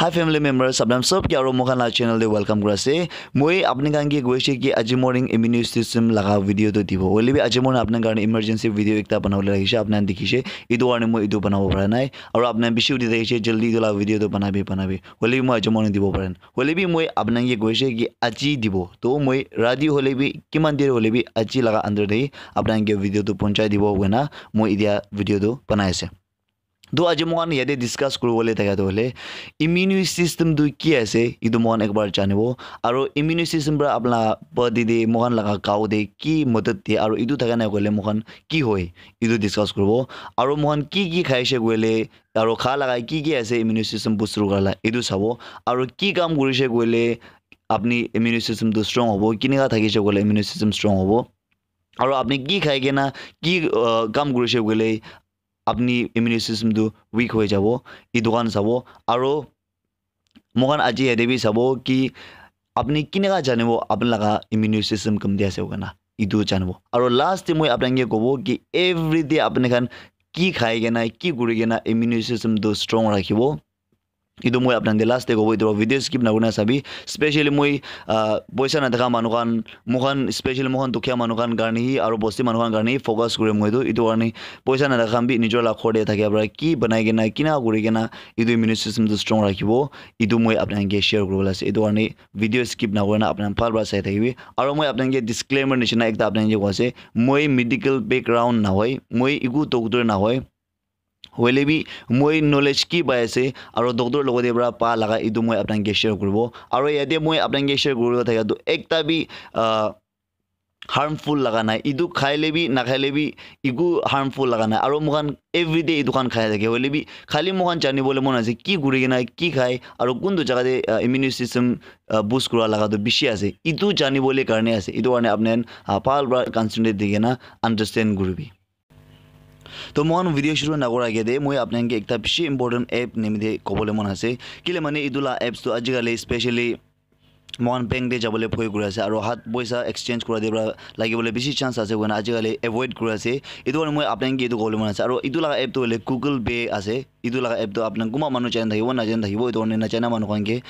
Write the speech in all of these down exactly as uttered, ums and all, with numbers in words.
Hi family members, apni khan sob ke aru moi khan la channel te welcome kuri ase. Moi apni khan ke koise ki aji morning immune system laga video tu dibo. Hoile bi aji morning apni khan karne emergency video ekta banabole rakhishe, apni khan dikhishe. Etu karne moi etu banabo para nai. Aru apni khan bishi udi thakishe, jaldi etu la video tu banabi, banabi. Hoile bi moi aji morning dibo para nai. Hoile bi moi apni khan ke koise ki aji dibo. To moi rati hoile bi, kiman der hoile bi aji laga under te apni khan ke video tu ponchai dibo koina moi etia video tu banai ase. To aji moi khan yate discuss kuribole thaka tu hoile immune system tu ki ase, etu moi khan ekbar janibo. Aru immune system para apna body te moi khan laga gao te ki madad diye, aru etu thaka nai koile moi khan ki hoi, etu discuss kuribo. Aru moi khan ki ki khaishe koile, aru kha laga ki ki ase immune system boost kura la, etu sabo. Aru ki kam kurishe koile apni immune system tu strong hobo, kinika thakishe koile immune system strong hobo. Aru apni ki khai kena ki, uh, kam kurishe koile apni immune system tu weak hoi jabo, etu khan sabo. Aru moi khan aji yate bi sabo ki apni kineka janibo apni laga immune system kamti ase koina, etu janibo. Aru last te moi apni khan ke kobo ki everyday apni khan ki khai kena, ki kuri kena immune system tu strong rakhibo. Etu moi apni khan te last te kobo, etu video skip nakurina sabi. Specially moi, ah, poisa nathaka manu khan, moi khan, specially moi khan dukhiya manu khan karne hi aru bosti manu khan karne hi focus kurim moi tu. Etu karne poisa nathaka khan bi nijor la ghor te thakia para ki banai kena, kina kuri kena etu immune system tu strong rakhibo, etu moi apni khan ke share kuribole ase. Etu karne video skip nakurina apni khan bhal para sai thakibi. Aru moi apni khan ke disclaimer nishina ekta apni khan ke koi ase, moi medical background nahoi, moi eku doctor nahoi. Hoile bi moi knowledge ki pai ase aru doctor logote para pa laga etu moi apni khan ke share kuribo. Aru yate moi apni khan ke share kuribo thaka tu ekta bi, ah, harmful laga nai. Etu khaile bi, nakhaile bi, eku harmful laga nai. Aru moi khan everyday etu khan khai thake. Hoile bi khali moi khan janibole mon ase ki kuri kena ki khai aru kuntu jaga te, ah, immune system, ah, boost kura laga tu bishi ase. Etu janibole karne ase. Etu karne apni khan, ah, bhal para concentrate di kena understand kuribi. To moi khan video shuru nakura age te moi apni khan ke ekta bishi important app nimite kobole mon ase. Kile mane etu la apps tu ajikali specially moi khan bank te jabole bhoi kuri ase aru hat poisa exchange kura te para lagibole bishi chance ase koina ajikali avoid kuri ase. Etu karne moi apni khan ke etu kobole mon ase. Aru etu laga app tu hoile Google Pay ase. Etu laga app tu apni khan kunba manu jani thakibo, najani thakibo, etu karne najana manu khan ke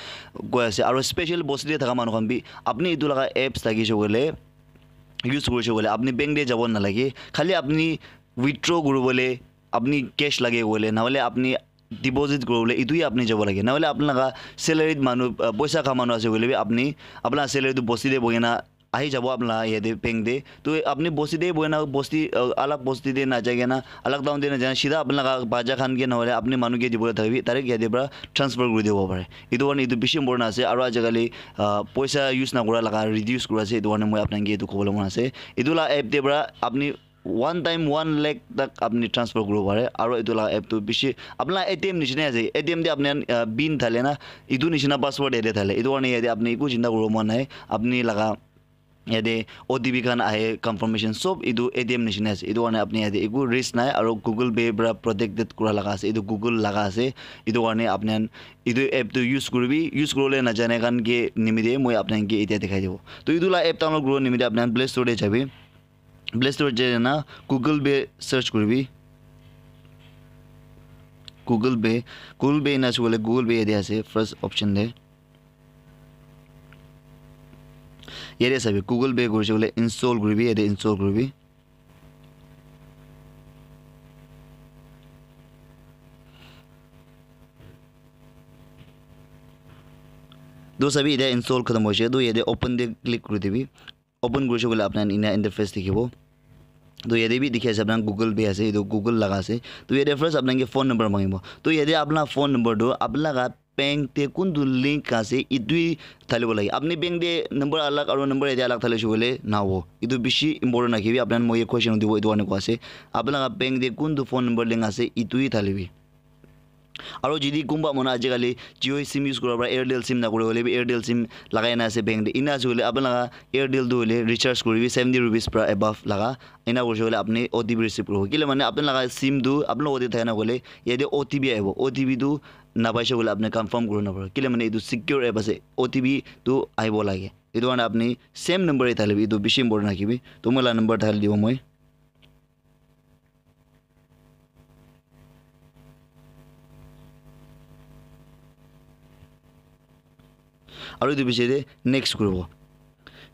koi ase. Aru special bosti te thaka manu khan bi apni etu laga apps thakishe koile, use kurishe koile apni bank te jabo nalage. Khali apni withdraw kuribole apni cash lage koile, nahole apni deposit kuribole etu hi apni jabo lage. Nahole apni laga salary manu, ah, poisa kha manu ase koile bi apni apna salary tu bosti te bohi kena ahi jabo apna yate bank te. To apni bosti te bohi kena bosti, ah, alag bosti te najai kena, alag town te najai kena, sida apni laga bacha khan ke nahole apni manu ke dibole thakibi, direct yate para transfer kuri dibo pare. Etu karne etu bishi important ase. Aru ajikali, ah, poisa use nakura laga reduce kura ase. Etu karne moi apni khan ke etu kobole mon ase. Etu la app te para apni one time one lakh tak apni transfer kuribo pare. Aru etu la app tu bishi apni la A T M nishina ase. A T M te apni khan, ah, pin thale na, etu nishina password yate thale. Etu karne yate apni eku chinta kuribo mon nai. Apni laga yate O T P khan ahe, confirmation sob etu A T M nishina ase. Etu karne apni yate eku risk nai aru Google Pay para protected kura laga ase. Etu Google laga ase. Etu karne apni khan etu app tu use kuribi, use kuribole najane khan ke nimite moi apni khan ke etia dikhai dibo. To etu la app download kuribo nimite apni khan Play Store te jabi. Play Store jai kena Google Pay search kuribi. Google Pay, Google Pay ena ase koile Google Pay yate ase first option te. Yate sabi Google Pay kurishe koile install kuribi, yate install kuribi. To sabi yate install khatam hoishe, to yate open te click kuri dibi. Open kurishe koile apni khan ena interface dikhibo. To yate bi dikhi ase apni khan Google Pay ase, etu Google laga ase. To yate first apni khan ke phone number mangibo. To yate apna phone number tu apni laga bank te kuntu link ase, etu hi thalibo lage. Apni bank te number alag aru number yate alag thalishe koile nahobo. Etu bishi important rakhibi. Apni khan moi question udibo, etu karne koi ase. Apni laga bank te kuntu phone number link ase, etu hi thalibi. Aru jodi kunba manu ajikali Jio sim use kura para Airtel sim na kure hoile bi Airtel sim lagai na ase bank te. Ena ase koile apni laga Airtel tu hoile recharge kuribi seventy rupees para above laga. Ena kurishe koile apni O T P receive kuribo. Kile mane apni laga sim tu apni logote thake na koile yate O T P ahibo. O T P tu napaishe koile apni confirm kuribo napare. Kile mane etu secure app ase. O T P tu ahibo lage. Etu karne apni same number e thalibi. Etu bishi important rakhibi. To moi la number thali dibo moi. Aru etu piche te next kuribo.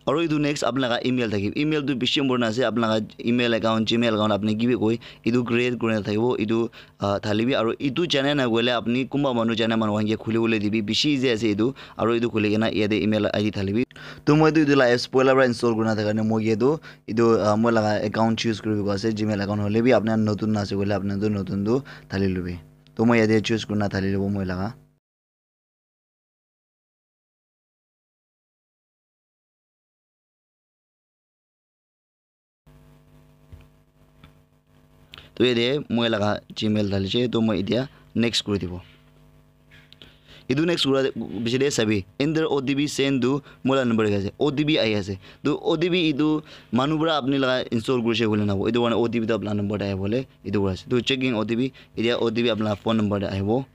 Aru etu next apni laga email thakibo. Email tu bishi important ase. Apni laga email account, Gmail account apni kibi koi, etu create kurina thakibo. Etu ah, thalibi. Aru etu jana na koile apni kunba manu jana manu khan ke khuli bole dibi. Bishi easy ase etu. Aru etu khuli kena yate email I D thalibi. To moi tu etu la apps poila para install kurina thaka karne moi ke etu, etu ah, moi laga account choose kuribi koi ase. Gmail account hole bi apni notun ase koile apni tu notun tu thali lobi. To moi yate choose kurina thali lobo moi laga. To yate moi laga Gmail dhalise, to moi etia next kuri dibo. Etu next kura biche te sabi, enter O T P send to moi laga number dikhi ase, O T P ahi ase. To O T P etu manu para apni laga install kurise koile nabo, etu karne O T P to apna number te ahi bole etu kura ase. To checking O T P, etia O T P apna phone number te ahibo.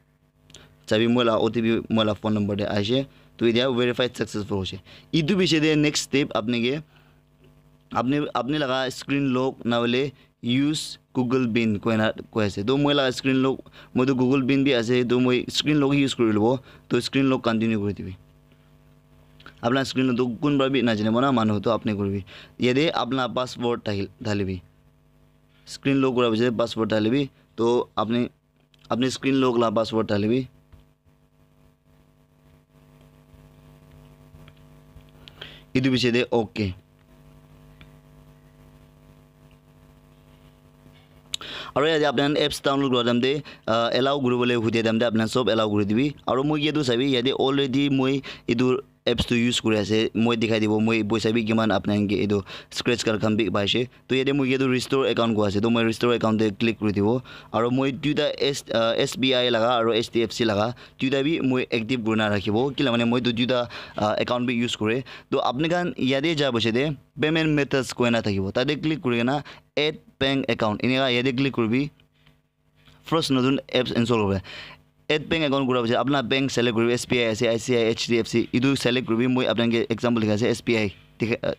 Sabi moi la O T P moi la phone number te aise. To etia verified successful hoise. Etu piche te next step apni ke apni apni laga screen lock na hoile use Google pin koina koi ase. To moi laga screen lock, moi to Google pin bi ase, to moi screen lock use kuri lobo. To screen lock continue kuri dibi. Apna screen lock to kun para bi na jane bona manu to apni kuribi. Yate apna password thali- thalibi. Screen lock kura piche password thalibi. To apni Apni screen lock la password thalibi. Etu piche te okay. Aru yate apni khan apps download kura time te, ah, allow kuri bole hudi time te apni khan sob allow kuri dibi. Aru moi ke tu sabi yate already moi etu apps tu use kuri ase, moi dikhai dibo, moi poisa bi kiman apni khan ke etu scratch card khan bi paise. To yate moi ke tu restore account koi ase, to moi restore account te click kuri dibo. Aru moi duita S, ah, S B I laga aru H D F C laga duita bi moi active kurina rakhibo. Kila mane moi tu duita, ah, account bi use kure. To apni khan yate ja piche te payment methods koina thakibo. Tate click kuri kena add bank account. Eneka yate click kuribi. First notun apps install kuribo. Add bank account kura piche apna bank select kuribi, S B I ase, I C I, H D F C, etu select kuribi. Moi apna ke example dikha ase, S B I. Dikha, uh,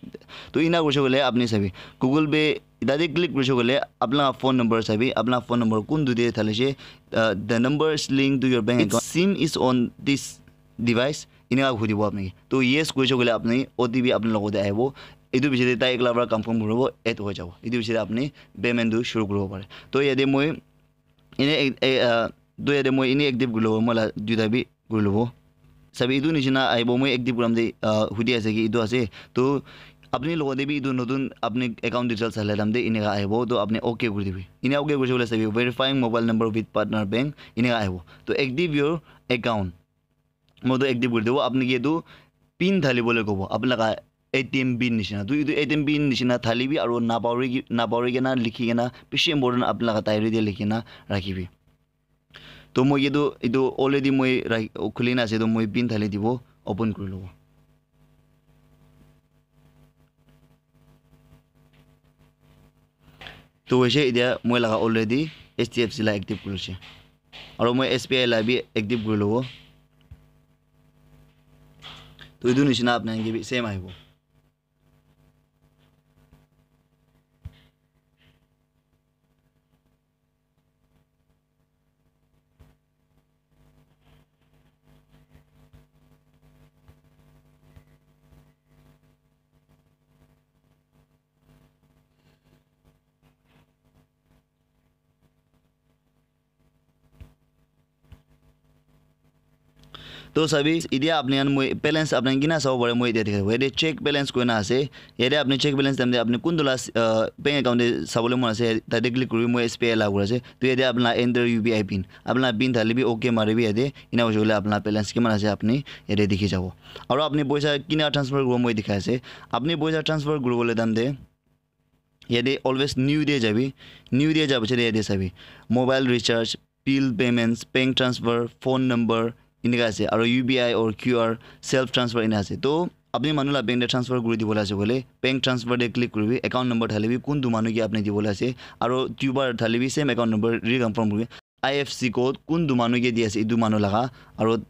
to ina kurise koile apni sabi. Google Pay, tate click kurise koile apna phone number sabi, apna phone number kuntu te thalise, uh, the numbers linked to your bank account. Its SIM is on this device. Ina hudibo apni. To yes kurise koile apni O T P apni logote ahibo. Etu piche te tai ekla para confirm kuribo, add hoi jabo. Etu piche te apni payment tu shuru kuribo pare. To yate moi ene ek-, e, ah, to yate moi ene active kuri lobo, moi la duita bi kuri lobo. Sabi etu nishina ahibo, moi active kuram te, ah, hudi ase ki etu ase. To apni logote bi etu notun apni account details sale time te eneka ahibo, to apni okay kuri dibi. Ene okay kurise koile sabi verifying mobile number with partner bank eneka ahibo. To active your account. Moi to active kuri dibo, apni ke etu pin dhali bole kobo, apni laga A T M pin nishina. To etu A T M pin nishina dhalibi aru napauri ki-, napauri kena likhi kena, bishi important, apni laga diary te likhi kena rakhibi. To moi ke tu etu already moi rak-, khuli na ase, to moi pin dhali dibo, open kuri lobo. To hoise, etia moi laga already H D F C la active kuri ase. Aru moi S B I la bi active kuri lobo. To etu nishina apna ke bi same ahibo. To sabi, etia apni khan moi balance apni khan kina sabo pare, moi etia dikhai dibo. Yate check balance koina ase. Yate apni check balance time te apni kuntu la, uh, bank account te sabole mon ase, tate click kuri moi S B I la kuri ase. To yate apni la enter U P I pin. Apni la pin thali bi okay mari bi yate. Ina hoise koile apni la balance kiman ase apni yate dikhi jabo. Aru apni poisa kina transfer kuribo moi dikhai ase. Apni poisa transfer kuribole time te yate always new te jabi, new te ja piche te yate sabi, mobile recharge, bill payments, bank transfer, phone number, eneka ase, aru U P I or Q R, self transfer ena ase. To apni manu la bank te transfer kuri dibole ase koile, bank transfer te click kuribi, account number thalibi, kuntu manu ke apni dibole ase, aru duibar thalibi, same account number reconfirm kuribi. I F C code kuntu manu ke di ase, etu manu laga, aru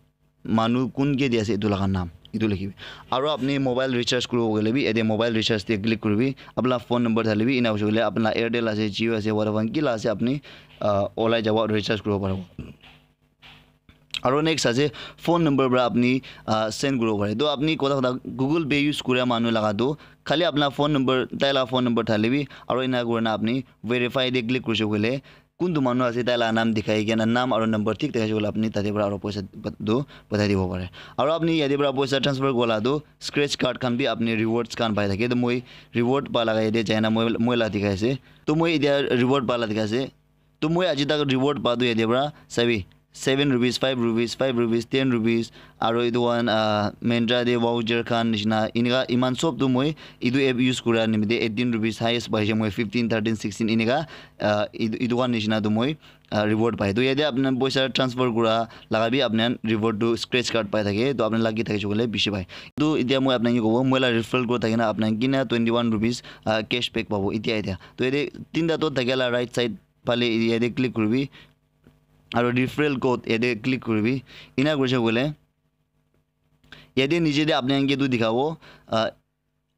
manu kun ke di ase etu laga naam, etu likhibi. Aru apni mobile recharge kuribo koile bi, yate mobile recharge te click kuribi. Apna phone number thalibi, ena hoise koile apna Airtel ase, Jio ase, Vodafone, ki la ase apni, ah, olai jabo aru recharge kuribo paribo. Aro next ase phone number para apni uh, send kuribo pare. To apni kotha kotha Google Pay use kura manu laga tu khali apna phone number, tai la phone number thale bi aro ena kurina apni verify de click kurise koile kuntu manu ase tai la naam dikhai kena naam aro number thik dikhai koile apni tate para aro poisa tu pathai dibo pare. Aro apni yate para poisa transfer kola tu scratch card khan bi apni rewards khan pai thake. To moi reward pa laga yate jaina moi moi la dikhai ase. To moi etia reward pa la dikhai ase. To moi aji tak reward pa tu yate para sabi seven rupees, five rupees, five rupees, ten rupees, aro etu khan uh, Myntra de voucher khan nishina enika iman sob tu moi etu app use kura nimite eighteen rupees highest paise moi fifteen, thirteen, sixteen enika uh, etu etu khan nishina tu moi uh, reward pai. To yate apna poisa transfer kura laga bi apna reward tu scratch card pai thake. To apna lucky thakise koile bishi pai. To etia moi apna ki kobo moi la referral code thakina apna kina twenty one rupees uh, cash back pabo etia etia. To yate tinta to thakela right side phale yate click kuribi. Aro referral code yate click kuribi. Ena kurise koile yate niche te apni khan ke tu dikhabo uh,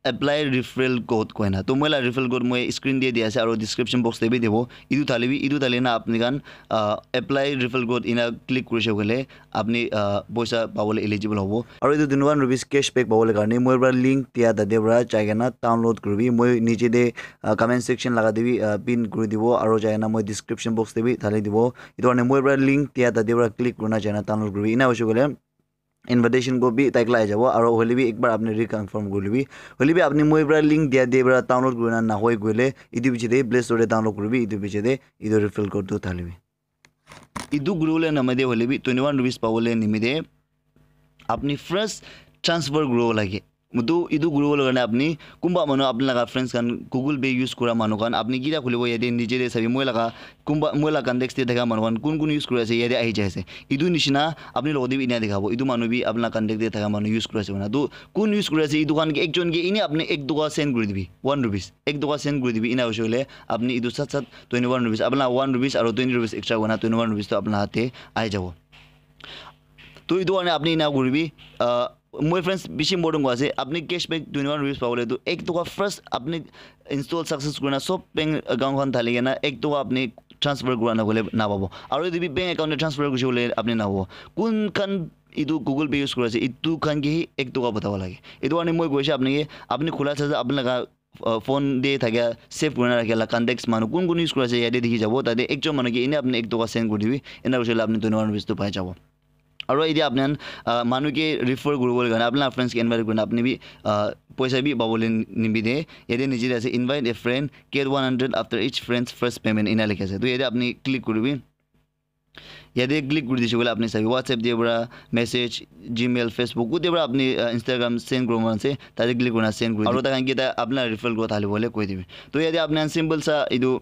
apply referral code koina. To moi la referral code moi screen te di ase aro description box te bi dibo. Etu thale bi etu thale na apni khan uh, apply referral code ena click kurise koile apni uh, poisa pabole eligible hobo. Aro etu twenty one rupees cash back pabole karne moi para link dia tate para jai kena download kuribi. Moi niche te uh, comment section laga te bi uh, pin kuri dibo aro jai kena moi description box te bi thali dibo. Etu karne moi para link dia tate para click kurina jai kena download kuribi. Ena hoise koile invitation code bi tai kala ahi jabo aro hoile bi ekbar apni reconfirm kuri libi. Hoile bi apni moi para link dia te para download kurina nahoi koile etu piche te Play Store te download kuribi. Etu piche te etu referral code tu thalibi. Etu kuribole namite hoile bi twenty one rupees pabole nimite apni first transfer kuribo lage. Mutu etu kuribole karne apni kunba manu apni laga friends khan Google Pay use kura manu khan apni kira khulibo yate niche te sabi moi laga kunba moi laga contacts te thaka manu khan kun kun use kuri ase yate ahi jai ase. Etu nishina apni logote bi ena dikhabo etu manu bi apni laga contact te thaka manu use kuri ase koina. To kun use kuri ase etu khan ke ekjon ke ene apni ek toka send kuri dibi one rupees ek toka send kuri dibi ena hoise koile apni etu sat sat twenty one rupees apni laga one rupees aro twenty rupees extra koina twenty one rupees to apni laga te ahi jabo. To etu karne apni ena kuribi uh, moi friends bishi important koi ase apni cashback twenty one rupees pabole tu ek toka first apni install success kurina sob bank account khan thali kena ek toka apni transfer kura na koile na pabo. Aro etu bi bank account te transfer kurise koile apni na pabo. Kun khan etu Google Pay use kuri ase etu khan ke hi ek toka patabo lage. Etu karne moi koise apni ke apni khula sa apni laga uh, phone te thakia save kurina rakhia la contacts manu kun kun use kuri ase yate dikhi jabo tate ekjon manu ke ene apni ek toka send kuri dibi ena hoise koile apni twenty one rupees tu pai jabo. Aro etia apni khan uh, manu ke refer kuribole karne apni la friends ke invite kurina apni bi uh, poisa bi pabole nimite yate niche te ase invite a friend, get one hundred after each friend's first payment ena likhi ase. To yate apni click kuribi. Yate click kuri dise koile apni sabi WhatsApp te para message, Gmail, Facebook kute para apni uh, Instagram send kuribo mon ase tate click kurina send kuri aro takhan kita apni la referral code thali bole koi dibi. To yate apni khan simple sa etu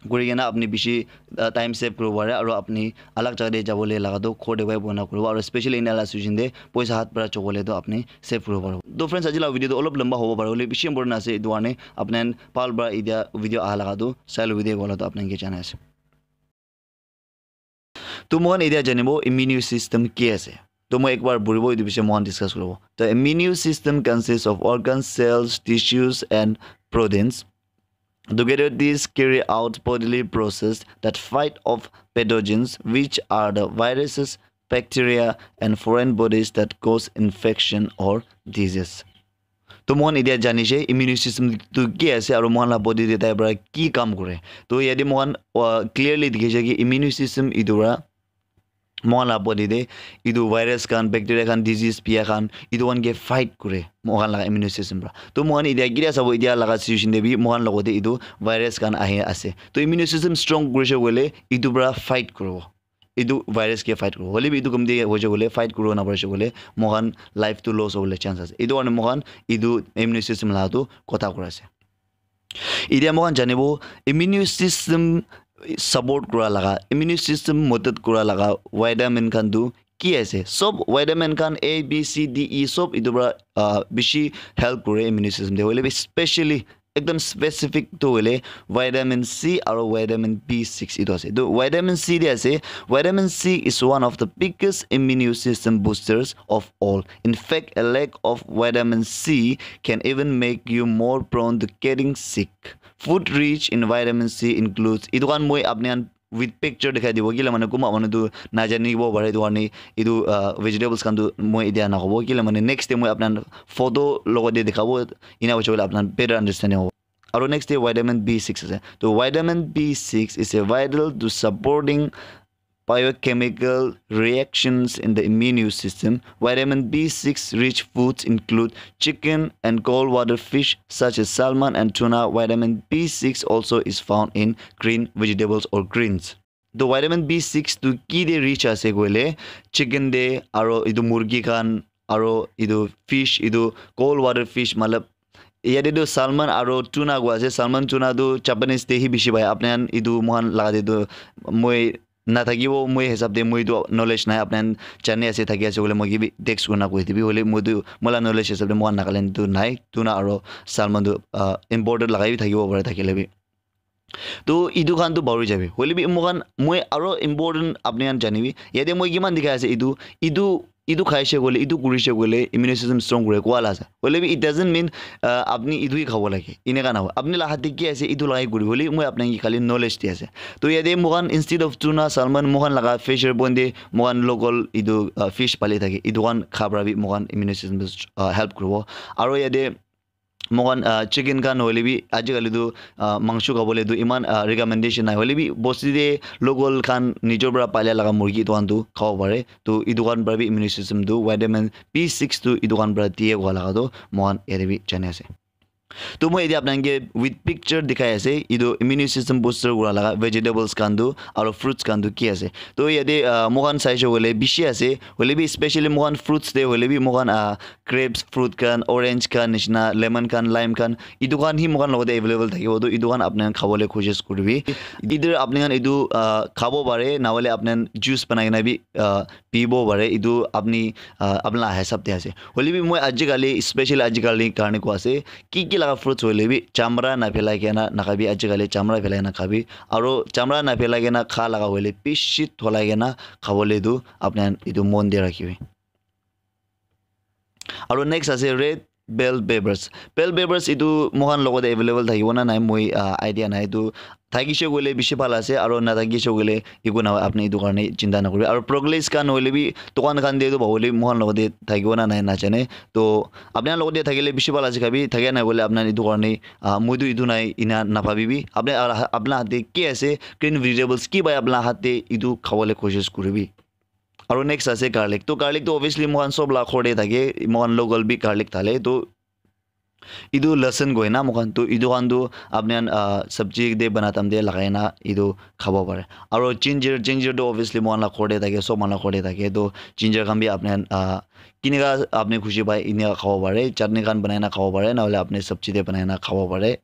kuri kena apni bishi uh, time save kuribo pare aro apni alag jaga te jabole laga to ghor te pai bona kuribo aro specially ena la situation te poisa hat para chobole to apni save kuribo paribo. To friends aji la video to olop lamba hobo pare hoile bishi important ase etu karne apni khan bhal para etia video aha laga to sai lobi de kola to apni khan ke janai ase. To moikhan etia janibo immune system ki ase. To moi ekbar buribo etu bishe moikhan discuss kuribo. The immune system consists of organs, cells, tissues and proteins. Together these carry out bodily process that fight off pathogens which are the viruses, bacteria and foreign bodies that cause infection or disease. To moikhan etia jani she immune system tu ki ase aro moikhan la body te tai para ki kam kore. To yate moikhan uh, clearly dikhi ase ki immune system etu para moikhan la body te etu virus khan, bacteria khan, disease bia khan etu khan ke fight kore moikhan la immune system para. To moikhan etia kila sabo etia laga situation te bi moikhan logote etu virus khan ahi ase. To immune system strong kurise koile etu para fight kuribo. Etu virus ke fight kuribo. Hoile bi etu kam te hoise koile fight kuribo na parise koile moikhan life tu loss hobole chance ase. Etu karne moikhan etu immune system la tu kotha kura ase. Etia moikhan janibo immune system support kura laga, immune system madad kura laga vitamin khan tu ki ase? Sob vitamin khan A, B, C, D, E sob etu para uh, bishi help kore immune system te. Hoile bi specially ekdam specific tu hoile vitamin C aro vitamin B six etu ase. Etu vitamin C te ase. Vitamin C is one of the biggest immune system boosters of all. In fact, a lack of vitamin C can even make you more prone to getting sick. Food rich in vitamin C includes etu khan moi apni khan with picture dikhai dibo, kile mane kunba manu tu najanibo pare, etu karne etu, ah, vegetables khan tu moi etia nakobo, kile mane next time moi apna photo logot te dikhabo, ena hoise koile apna better understanding hobo. Aru next te vitamin B six ase. To vitamin B six is a vital to supporting biochemical reactions in the immune system. Vitamin B six rich foods include chicken and cold water fish such as salmon and tuna. Vitamin B six also is found in green vegetables or greens. To vitamin B six tu ki de rich ase koile, chicken de, aro etu murgi khan, aro etu fish, etu cold water fish, matlab yate tu salmon aro tuna koi ase. Salmon, tuna tu Japanese te hi bishi pai. Apni khan etu moikhan laga te tu moi nathakibo, moi hisab te moi tu knowledge nai. Apni khan jani ase, thaki ase koile moi ke bi text kurina koi dibi. Hoile moi tu, moi la knowledge hisab te moikhan Nagaland tu nai. Tuna aro salmon tu, ah, imported lagai bi thakibo pare, thakile bi. To etu khan tu bahuri jabi. Hoile bi moikhan, moi aro important apni khan janibi. Yate moi kiman dikhai ase etu, etu, etu khaise koile, etu kurise koile, immune system strong kure koa la ase. Hoile bi it doesn't mean, uh, apni etu hi khabo lage. Eneka nahoi. Apni la hat te ki ase, etu lagai kuribi. Hoile moi apni khan ke khali knowledge di ase. To yate moikhan instead of tuna, salmon, moikhan laga fisher pond te moikhan local etu, uh, fish pali thake. Etu khan kha para bi moikhan immune system, uh, help kuribo. Aro yate moikhan, ah, chicken khan hoile bi ajikali tu, ah, mangso khabole tu iman, ah, recommendation nai. Hoile bi bosti te local khan nijor para palia laga murgi etu khan tu khabo pare. To etu khan para bi immune system tu vitamin B six tu etu khan para diye koa laga tu moikhan yate bi jani ase. To moi yate apni khan ke with picture dikhai ase, etu immune system booster kura laga vegetables khan tu aro fruits khan tu ki ase. To yate, ah, moikhan saise koile bishi ase, hoile bi specially moikhan fruits te hoile bi moikhan, ah, grapes fruit khan, orange khan nishina, lemon khan, lime khan, etu khan hi moikhan logot te available thakibo, to etu khan apni khan khabole koshish kuribi. Either apni khan etu, ah, khabo pare, nahoile apni khan juice banai kena bi, ah, pibo pare. Etu apni, ah, apni la hisab te ase. Hoile bi moi ajikali, specially ajikali karne koi ase, ki ki laga fruits hoile bi chamra na phelai kena nakhabi, ajikali chamra phelai kena khabi. Aro chamra na phelai kena kha laga hoile bishi dholai kena khabole tu apni khan etu mon te rakhibi. Aro next ase red bell peppers. Bell peppers etu moikhan logot te available thakibo na nai, moi, ah, idea nai. Etu thakise koile bishi bhal ase, aro nathakise koile eku nahoi, apni etu karne chinta nakuribi. Aro broccolis khan hoile bi dukan khan te tu pabo le, moikhan logot te thakibo na nai najane. To apni khan logot te thakile bishi bhal ase khabi, thakia nai koile apni khan etu karne, ah, moi tu etu nai ena nabhabibi. Apni, ah, apni la hat te ki ase, green vegetables ki pai apni la hat te, etu khabole koshish kuribi. Aro next ase garlic. To garlic to obviously moikhan sob la ghor te thake, moikhan local bi garlic thale. To etu lasan koi na moikhan, to etu khan tu apni khan, ah, sabji te bana time te lagai na etu khabo pare. Aro ginger, ginger tu obviously moikhan la ghor te thake, sob manu la ghor te thake. To ginger khan bi apni khan, ah, kineka apni khushi pai, eneka khabo pare. Chutney khan banai na khabo pare, nahoile apni sabji te banai na khabo pare.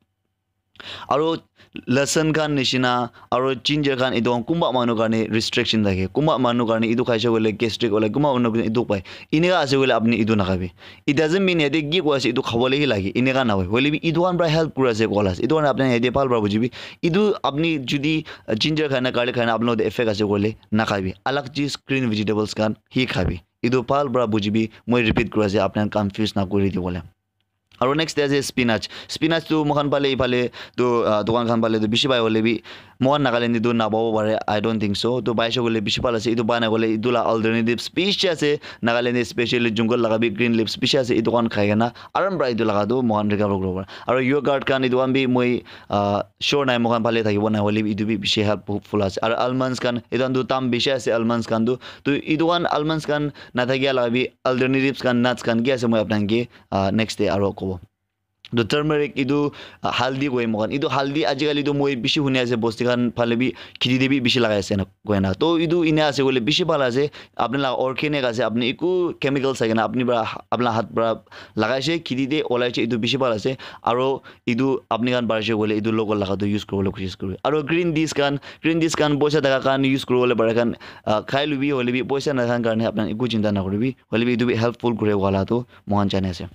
Aro lasan khan nishina, aro ginger khan, etu khan kunba manu karne restriction thake, kunba manu karne etu khaise koile gastric ole, kunba manu karne etu pai. Eneka ase koile apni etu nakhabi. It doesn't mean yate ki koi ase etu khabole hi lage, eneka nahoi. Hoile bi etu khan para help kuri ase koa la ase. Etu karne apni yate bhal para bujibi. Etu apni jodi, uh, ginger khai na, garlic khai na, apni logot te effect ase koile nakhabi. Alag cheez green vegetables khan hi khabi. Etu bhal para bujibi. Moi repeat kuri ase, apni khan confuse nakuri dibole. Aro next te ase spinach. Spinach tu moikhan phale, ephale tu, ah, dukan khan phale tu bishi pai, hoile bi moikhan Nagaland te tu napabo pare, I don't think so. To paise koile bishi bhal ase, etu pai na koile etu la alternatives bishi ase. Nagaland te specially jungle laga bi green leaves bishi ase, etu khan khai kena aram para etu laga tu moikhan recover kuribo pare. Aro yogurt khan etu khan bi moi, ah, sure nai moikhan phale thakibo nai, hoile bi etu bi bishi helpful ase. Aro almonds khan, etu khan tu dam bishi ase almonds khan tu. To etu khan almonds khan nathakia laga bi alternatives khan, nuts khan ki ase, moi apni khan ke, ah, next te aro kobo. To turmeric etu, ah, haldi koi moikhan. Etu haldi ajikali tu moi bishi huni ase, bosti khan phale bi kheti te bi bishi lagai ase na koi na. To etu ena ase koile bishi bhal ase. Apni la organic ase, apni eku chemical sai kena apni para, apni la hat para lagai se, kheti te olai se, etu bishi bhal ase. Aro etu apni khan parise koile etu local laga tu use kuribole koshish kuribi. Aro green teas khan, green teas khan poisa thaka khan use kuribole pare khan, ah, khai lubi, hoile bi poisa nathaka karne apni khan eku chinta nakuribi. Hoile bi etu bi helpful kure wala tu moikhan jani ase.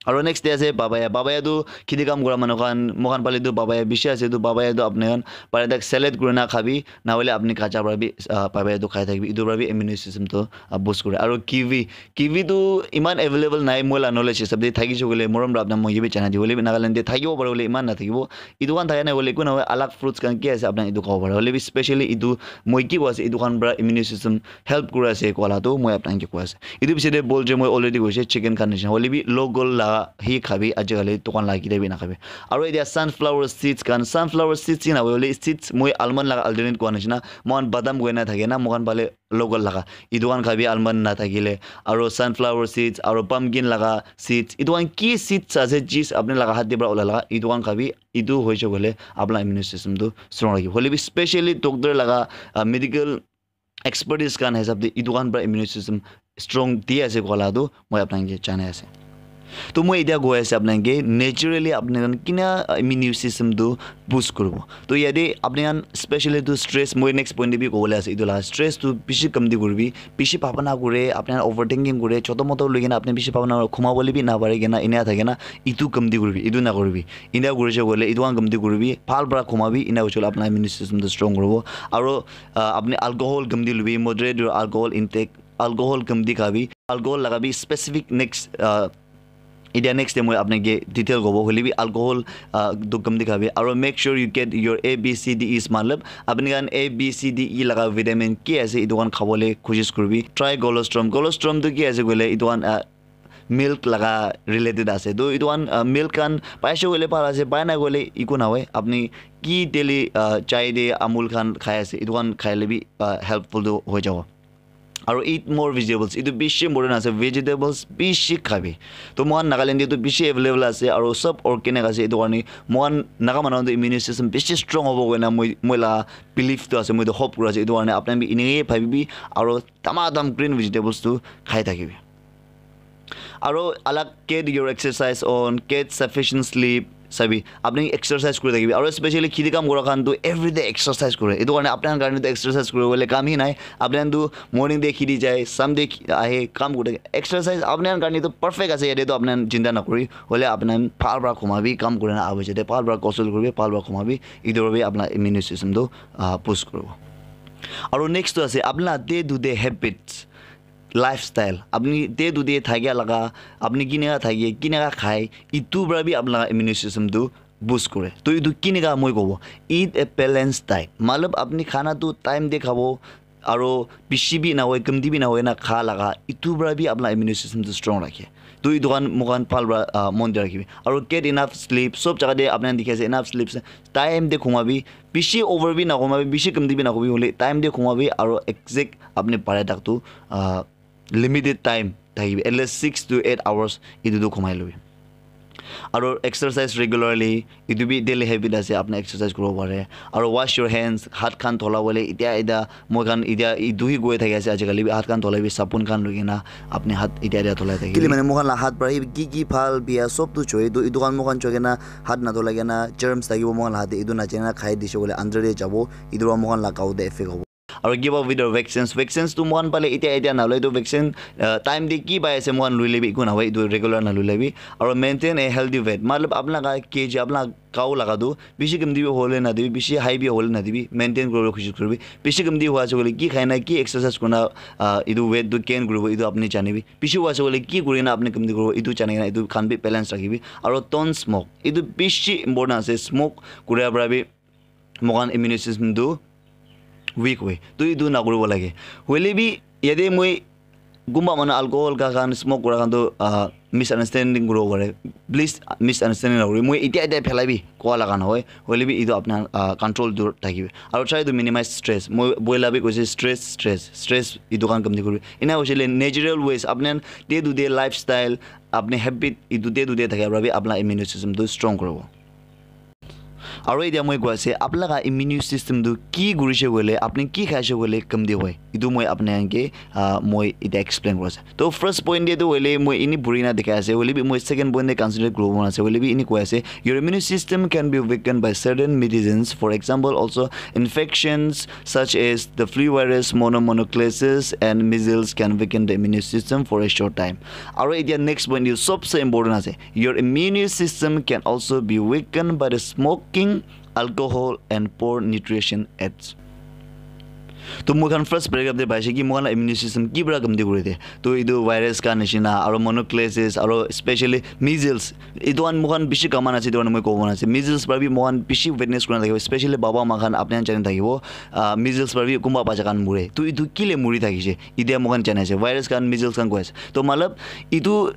Aro next te ase papaya. Papaya tu kheti kam kura manu khan, moikhan phale tu papaya bishi ase, tu papaya tu apni khan pare tak salad kurina khabi, na hoile apni kacha para bi, ah, papaya tu khai thakibi, etu para bi immune system tu, ah, boost kore. Aro kiwi, kiwi tu iman available nai, moi la knowledge hisab de thakishe koile morom para apna moi ye bi jana di, hoile bi Nagaland de thakibo pare, hoile iman na thakibo. Etu khan thaka nai hoile eku na hoi, alag fruits khan ki ase apna etu khabo pare, hoile bi specially etu moi ki koi ase, etu khan para immune system help kura ase koa la tu moi apna ke koi ase. Etu piche de bol je moi already koise chicken khan nishina, hoile bi local la hi khabi, ajikali dukan la kile bi na khabi. Aro etia sunflower seeds khan, sunflower seeds hi na hoile seeds moi almond la alternate koi nishina, moikhan badam koi na thake na, moikhan phale local laga. Etu khan khabi almond na thakile, aro sunflower seeds, aro pumpkin laga seeds, etu khan ki seeds ase, jis apni laga hat de para ola laga, etu khan khabi, etu hoise koile apna immune system tu strong rakhibo. Hoile bi specially doctor laga, ah, medical expertise khan hisab de etu khan para immune system strong di ase koa la tu moi apna ke janai ase. To moi etia koi ase apna ke naturally apni khan kina immune system tu boost kuribo. To yate apni khan specially tu stress, moi next point de bi kobole ase, etu la stress tu bishi kamti kuribi, bishi bhabana kure, apni khan overthinking kure, choto moto loi kena apni bishi bhabana kure, khuma bole bi na pare kena, enia thake na, etu kamti kuribi, etu na kuribi. Eneka kurishe koile etu khan kamti kuribi, bhal para khumabi, eneka hoishe koile apna immune system tu strong kuribo. Aro, ah, apni alcohol kamti lubi, moderate your alcohol intake, alcohol kamti khabi, alcohol laga bi specific next, ah, etia next time moi apni ke detail kobo, hoile bi alcohol, ah, tu kamti khabi. Aro make sure you get your A B C D Es, matlab apni khan A B C D E laga vitamin ki ase, etu khan khabole koshish kuribi. Try colostrum, colostrum tu ki ase koile etu khan, ah, milk laga related ase. To etu khan, ah, milk khan paishe koile bhal ase, pai nai koile eku na hoi. Apni ki daily, ah, chai de Amul khan khai ase, etu khan khaile bi, ah, helpful tu hoi jabo. Aro eat more vegetables, etu bishi important ase, vegetables bishi khabi. To moikhan Nagaland de tu bishi available ase, aro sob organic ase, etu karne moikhan Naga manu tu immune system bishi strong hobo koina moi, moi la belief tu ase, moi tu hope kuri ase, etu karne apni khan bi eneka bhabibi, aro tama tam green vegetables tu khai thakibi. Aro alag get your exercise on, get sufficient sleep, sabi, apni exercise kuri thakibi. Aro specially kheti kam kura khan tu everyday exercise kure. Etu karne apni khan karne tu exercise kuri bole kam hi nai. Apni khan tu morning de kheti jai, sham de khi-, ahe kam kure. Exercise apni khan karne tu perfect ase, yate tu apni khan chinta na kuri. Hoile apni khan bhal para khumabi, kam kuri na ahi jate bhal para gosul kuribi, bhal para khumabi. Etu para bi apna immune system tu, ah, boost kuribo. Aro next tu ase apna day to day habits. Lifestyle, apni day to day thakia laga, apni kineka thake, kineka khai, etu para bi apna laga immune system tu boost kore. To etu kineka moi kobo, eat a balanced diet. Matlab apni khana tu time de khabo, aro bishi bi na hoi, kamti bi na hoi na kha laga, etu para bi apna immune system tu strong rakhe. To etu khan moikhan bhal para, ah, mon de rakhibi. Aro get enough sleep, sob jaga de apni khan dikhi ase enough sleep, time de khumabi, bishi over bi na khumabi, bishi kamti bi na khumabi, hoile time de khumabi, aro exact apni pare tak tu, ah, limited time thakibi, at least six to eight hours etu tu khumai lobi. Aro exercise regularly, etu bi daily habit ase, apni exercise kuribo pare. Aro wash your hands, hat khan dhola bole, etia, etia, moi khan etia etu hi koi thaki ase, ajikali bi hat khan dhola bi sabun khan loi kena, apni hat etia, etia dholai thaki. Kile mane moi khan la hat para hi ki ki bhal bia sob tu choi, etu, etu khan moi khan choi kena hat na dholai kena germs thakibo moi khan la hat de, etu na chai na khai dishe koile under de jabo, etu para moi khan la gao de effect hobo. Aro give up with your vaccines. Vaccines tu moi khan phale etia, etia na loi, etu vaccine, ah, time de ki pai ase moi khan loi lebi, eku na hoi, etu regular na loi lebi. Aro maintain a healthy weight. Matlab apna ka kg, apna gao laga tu bishi kamti bi hole na dibi, bishi high bi hole na dibi, maintain kuribo koshish kuribi. Bishi kamti hua ase koile ki khai na, ki exercise kurina, ah, etu weight tu gain kuribo, etu apni janibi. Bishi hua ase koile ki kurina apni kamti kuribo, etu jani kena etu khan bi balance rakhibi. Aro don't smoke. Etu bishi important ase, smoke kuria para bi moi khan immune system tu weak hoi. To etu na kuribo lage. Hoile bi yate moi kunba manu alcohol kha khan, smoke kura khan tu, ah, misunderstanding kuribo pare. Please, misunderstanding na kuri. Moi etia, etia phelai bi koa laga na hoi. Hoile bi etu apna, ah, control dur thakibi. Aro try to minimize stress. Moi boila bi koise stress, stress, stress etu khan kamti kuri. Ena hoise le natural ways, apni day to day lifestyle, apni habit, etu day to day thaka para bi apna immune system tu strong kuribo. Aro etia moi koi ase, apna laga immune system tu ki kurishe koile, apni ki khaishe koile kamti hoi. Etu moi apni khan ke, ah, moi etia explain kuri ase. To first point te tu hoile moi ini buri na dikhai ase. Hoile bi moi second point te concentrate kuribo mon ase. Hoile bi ini koi ase, your immune system can be weakened by certain medicines. For example, also infections such as the flu virus, mono-, mononucleosis, and measles can weaken the immune system for a short time. Aro etia next point, etu sobse important ase. Your immune system can also be weakened by the smoking, alcohol, and poor nutrition, et cetera. To moi khan first paragraph te paise ki moi khan la immune system ki para kamti kuri de. To etu virus khan nishina, aro mononucleosis, aro especially measles. Etu khan moi khan bishi common ase, etu khan moi kobo mon ase. Measles para bi moi khan bishi witness kurina thakibo, especially baba ma khan apni khan jani thakibo. Ah, measles para bi kunba bacha khan mure. To etu kile muri thakise? Etia moi khan jani ase, virus khan, measles khan koi ase. To matlab, etu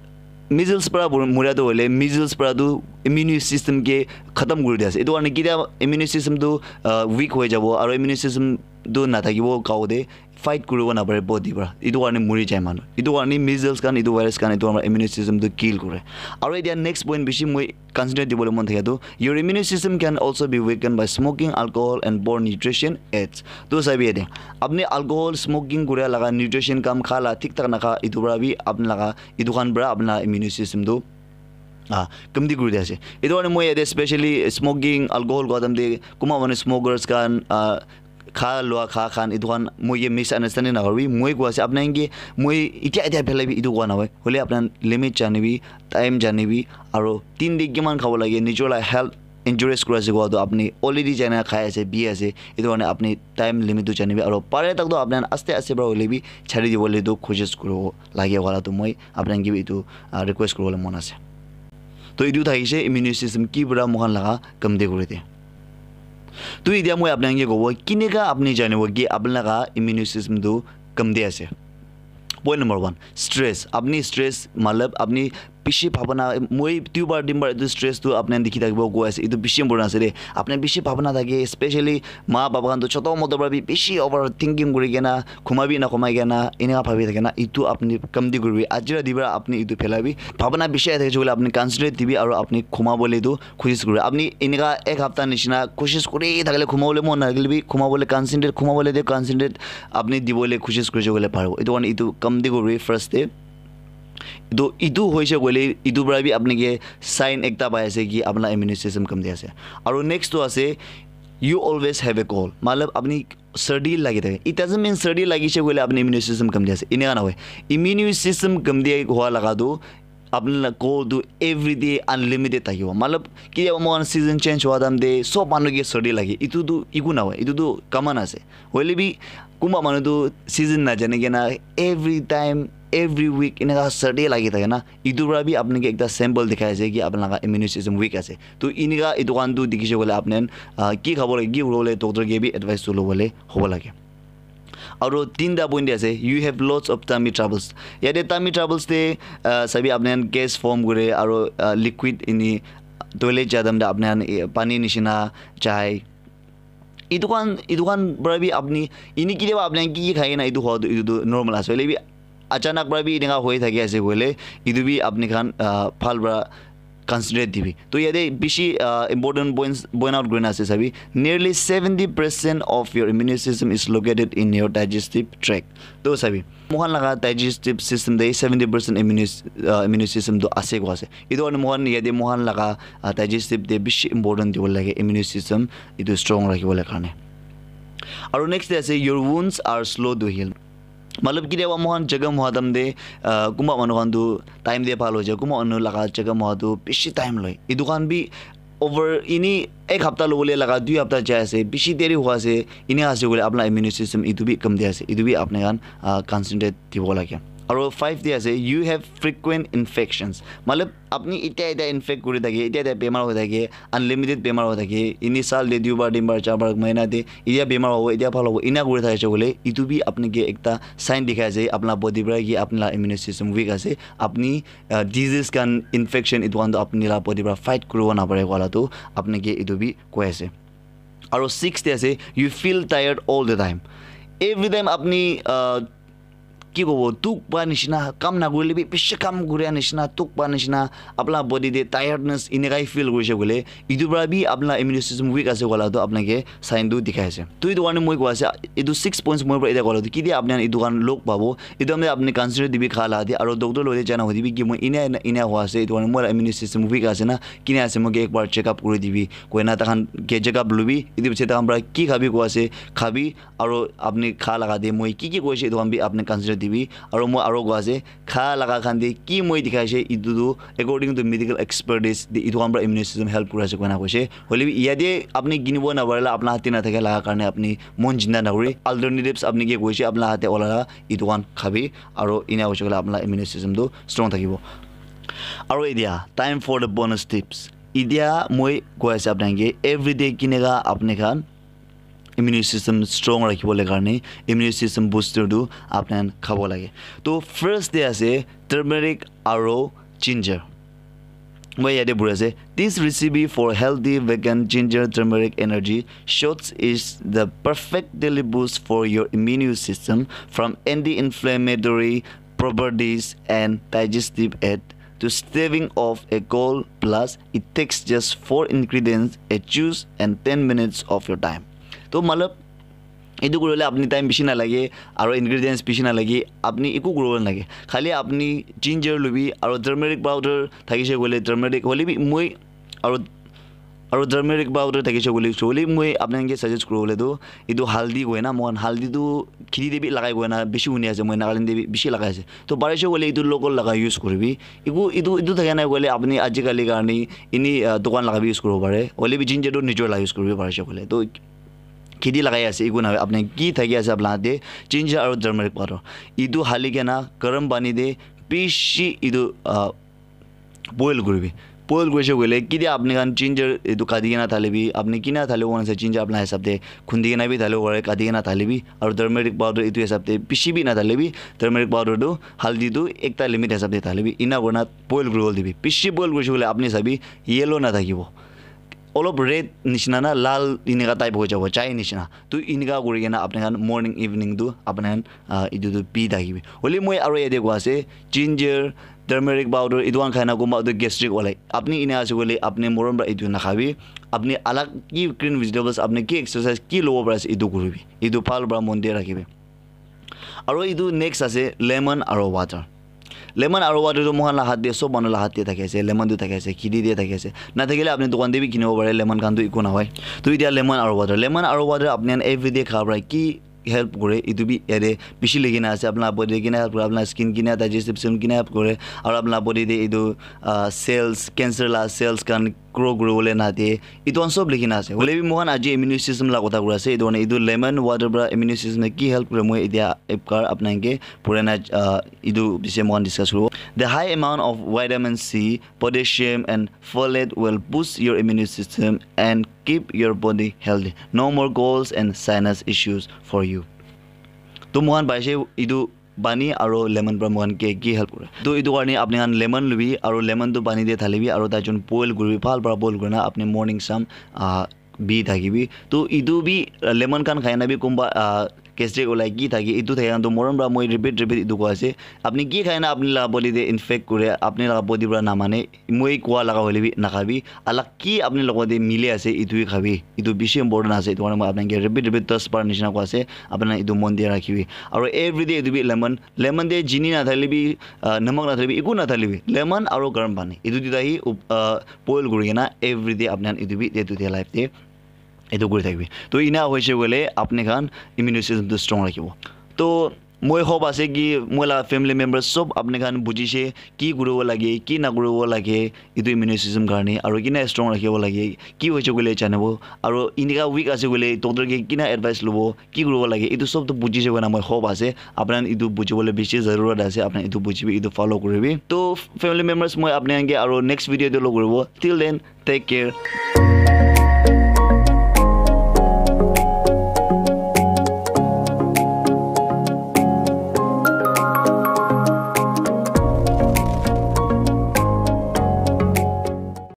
measles para bur-, mura tu hoile, measles para tu immune system ke khatam kuri dia ase. Etu karne ketia immune system tu, ah, weak hoi jabo, aro immune system tu nathakibo, gao te fight kuribo napare body para. Etu karne muri jai manu. Etu karne measles khan, etu virus khan, etu amar immune system tu kill kore. Aro etia next point bishi moi concentrate dibole mon thaka tu, your immune system can also be weakened by smoking, alcohol, and poor nutrition, et cetera. To sabi yate, apni alcohol, smoking kura laga, nutrition kam kha la, thik thak nakha, etu para bi apni laga, etu khan para apna immune system tu, ah, kamti kuri dia ase. Etu karne moi yate specially smoking, alcohol kua time te, kunba manu smokers khan, ah, kha lua kha khan, etu khan moi ke misunderstanding na koribi. Moi koi ase apna ke, moi etia etia phelai bi etu kua na hoi. Hoile apna limit janibi, time janibi, aro din te kiman khabo lage, nijor la health injurious kuri ase kua tu apni already jana khai ase, bi ase. Etu karne apni time limit tu janibi, aro pare tak tu apna aste aste para hoile bi chari dibole tu koshish kuribo lage wala tu moi apna ke bi etu, ah, request kuribole mon ase. To etu thakise immune system ki para moi khan laga kamti kuri de. To etia moi apni khan ke kobo, kineka apni janibo ki apni laga immune system tu kamti ase? Point number one, stress. Apni stress, matlab, apni bishi bhabana, moi duibar, tinbar etu stress tu apni khan dikhi thakibo koi ase, etu bishi important ase de. Apni bishi bhabana thake, especially ma baba khan tu choto moto para bi bishi overthinking kuri kena, khuma bi na khumai kena, eneka bhabi thake na, etu apni kamti kuribi. Aji rati para apni etu phelabi. Bhabana bishi ahi thakise koile apni concentrate dibi aro apni khuma bole tu koshish kuribi. Apni eneka ek hapta nishina koshish kuri thakile khuma bole mon nathakile bi khuma bole concentrate, khuma bole de concentrate apni dibole koshish kurise koile paribo. Etu karne etu kamti kuribi first te. Etu, etu hoise koile etu para bi apni ke sign ekta pai ase ki apna immune system kamti ase. Aro next tu ase, you always have a cold. Matlab apni sardi lagi thake. It doesn't mean sardi lagise koile apni immune system kamti ase. Eneka na hoi. Immune system kamti hua laga tu apni la cold tu everyday unlimited thakibo. Matlab, ketiaba moi khan season change hua time te sob manu ke sardi lage. Etu tu eku na hoi. Etu tu common ase. Hoile bi kunba manu tu season na jani kena every time, every week eneka sardi lagi thake na. Etu para bi apni ke ekta symbol dikhai ase ki apni laga immune system weak ase. To eneka etu khan tu dikhi se koile apni khan, ah, ki khabo lage, ki kuribo lage, doctor ke bi advice tu lobole hobo lage. Aro tinta point de ase, you have lots of tummy troubles. Yate tummy troubles te, ah, sabi apni khan gas form kore, aro, ah, liquid ini toilet ja time te apni khan, eh, pani nishina jai. Etu khan, etu khan para bi apni, ini ketiaba apni khan ki ki khai kena etu hua tu, etu tu normal ase. Hoile bi achanak para bi eneka hoi thaki ase koile, etu bi apni khan, ah, bhal para concentrate dibi. To yate bishi, ah, important points point out kurina ase sabi. Nearly seventy percent of your immune system is located in your digestive tract. To sabi, moi khan laga digestive system te seventy percent immune, ah, immune system tu ase koi ase. Etu karne moi khan yate moi khan laga, ah, digestive te bishi important dibo lage immune system etu strong rakhibo le karne. Aro next te ase, your wounds are slow to heal. Matlab ketiaba moi khan jakham hua time te, ah, kunba manu khan tu time te bhal hoi jai, kunba manu laga jakham hua tu bishi time loi. Etu khan bi over ini ek hapta lobole laga dui hapta jai ase, bishi deri hua ase, ini ase koile apna immune system etu bi kamti ase, etu bi apni khan, ah, concentrate dibo lage. Aro five te ase, you have frequent infections. Matlab apni etia etia infect kuri thake, etia etia bemar hoi thake, unlimited bemar hoi thake, ini sal te duibar, tinbar, charbar, mahina te etia bemar hobo, etia bhal hobo, ena kuri thakise koile, etu bi apni ke ekta sign dikhai ase apna body para ki apni la immune system weak ase, apni, ah, disease khan, infection etu khan tu apni la body para fight kuribo napare koa la tu apni ke etu bi koi ase. Aro six te ase, you feel tired all the time. Every time apni, ah, ki kobo, dukh pa nishina, kam nakurile bi bishi kam kuria nishina, dukh pa nishina, apna body te tiredness enekai feel kurishe koile, etu pra bi apna immune system weak ase koila toh apna ke sign tu dikhai ase. Toh etu karne moi koi ase, etu six points moi pra eta koila toh kiti apni khan etu khan log pabo, etu apni, apni consider dibi kha la de, aro doctor loi jana hoi dibi ki moi ena, ena, ena hoi ase, etu karne moi la immune system weak ase na, kina ase moi ke ek bar check up kuri dibi, koina takhan ke check up lubi, etu piche takhan pra ki khabi koi ase, khabi, aro apni kha laga de moi ki ki koise etu khan bi apni consider dibi, aro moi aro koi ase kha laga khan de ki moi dikhai ase etu tu according to medical expertise de etu khan pra immune system help kuri ase koina koise. Hoile bi yate apni kinibo na parila apna hate na thake laga karne apni mon jinda na kuri, alternatives apni ke koise apna hate ola etu khan khabi, aro ina hoise koile apna immune system tu strong thakibo. Aro etia time for the bonus tips. Etia moi koi ase apna ke everyday kineka apni khan immune system strong rakhibo le karne immune system booster tu apni khan khabo lage. To first te ase turmeric aro ginger. Moi yate puri ase, this recipe for healthy vegan ginger turmeric energy shots is the perfect daily boost for your immune system, from anti-inflammatory properties and digestive aid to staving off a cold. Plus, it takes just four ingredients, a juice, and ten minutes of your time. To matlab, etu kuribole apni time bishi nalage, aro ingredients bishi nalage, apni eku kuribole nalage. Khali apni ginger lubi, aro turmeric powder thakise koile turmeric, hoile bi moi, aro, aro turmeric powder thakise koile, hoile bi moi apni khan ke suggest kuribole tu, etu haldi koi na, moi khan haldi tu kheti te bi lagai koi na, bishi huni ase, moi Nagaland te bi bishi lagai ase. To parise koile etu local laga use kuribi. Eku, etu, etu thaka nai koile apni ajikali karne ini, ah, dukan laga bi use kuribo pare. Hoile bi ginger tu nijor la use kuribi parise koile. To kheti lagai ase, eku na apni ki thaki ase apna te, ginger aro turmeric powder. Etu hali kena garam pani te bishi etu, ah, boil kuribi. Boil kurise koile, ketia apni khan ginger etu kati kena thalibi, apni kina thalibo mone ase ginger apna hisab te khundi kena bi thalibo pare, kati kena thalibi, aro turmeric powder etu hisab te bishi bi nathalibi, turmeric powder tu haldi tu ekta limit hisab te thalibi, ina kurina boil kuribole dibi. Bishi boil kurise koile apni sabi yellow nathakibo, olop red nishina na lal enika type hoi jabo, chai nishina. Tu enika kuri kena apni khan morning evening tu apni khan, ah, etu tu pi thakibi. Hoile moi aro yate koi ase, ginger, turmeric powder, etu khan khai na kunba tu gastric olai. Apni ena ase koile apni morom pra etu nakhabi. Apni alag ki green vegetables, apni ki exercise ki lobo para ase etu kuribi. Etu bhal pra mon de rakhibi. Aro etu next ase lemon aro water. Lemon aro water tu moikhan la hath de, sob manu la hath de thaki ase, lemon tu thaki ase, kheti de thaki ase. Nathakile apni dukan de bi kinibo pare, lemon khan tu eku nahoi. Tu etia lemon aro water, lemon aro water apni khan everyday kha para ki help kore, etu bi yate bishi likhi na ase, apni la body de kina help kore, apni la skin kina, digestive system kina help kore, aro apni la body de etu, ah, cells, cancer la cells khan grow kuribole na de, etu khan sob likhi na ase. Hoile bi moikhan aji immune system la kotha kuri ase, etu karne etu lemon water para immune system te ki help kure, moi etia ek baar apni khan ke purana, ah, etu bishe moikhan discuss kuribo. The high amount of vitamin C, potassium and folate will boost your immune system and keep your body healthy. No more colds and sinus issues for you. To moikhan paise etu pani aro lemon para moikhan ke ki help kore. To etu karne apni khan lemon lubi aro lemon tu pani te thalibi aro tai jun boil kuribi, bhal para boil kurina apni morning sam, ah, bi thakibi. To etu bi, ah, lemon khan khai na bi kunba, ah, gastric olai ki thaki, etu thaki khan to morom para moi repeat, repeat etu koi ase. Apni ki khai na apni la body te infect kure, apni la body para namane, moi koa laga hoile bi nakhabi. Alag ki apni logot te mili ase, etu bi khabi. Etu bishi important ase. Etu karne moi apni ke repeat, repeat das bar nishina koi ase. Apni etu mon de rakhibi. Aro everyday etu bi lemon, lemon te chini nathalibi, ah, namak nathalibi, eku nathalibi. Lemon aro garam pani. Etu duita hi, up-, ah, boil kuri kena everyday apni khan etu bi day to day life te etu kuri thakibi. To ina hoise koile apni khan immune system tu strong rakhibo. To moi hope ase ki moi la family members sob apni khan bujise ki kuribo lage, ki nakuribo lage, etu immune system karne, aro kina strong rakhibo lage, ki hoise koile janibo, aro enika weak ase koile doctor ke kina advice lobo, ki kuribo lage, etu sob tu bujise koina moi hope ase. Apni khan etu bujibole bishi zarurat ase, apni khan etu bujibi, etu follow kuribi. To family members, moi apni khan ke aro next video te log kuribo. Till then, take care.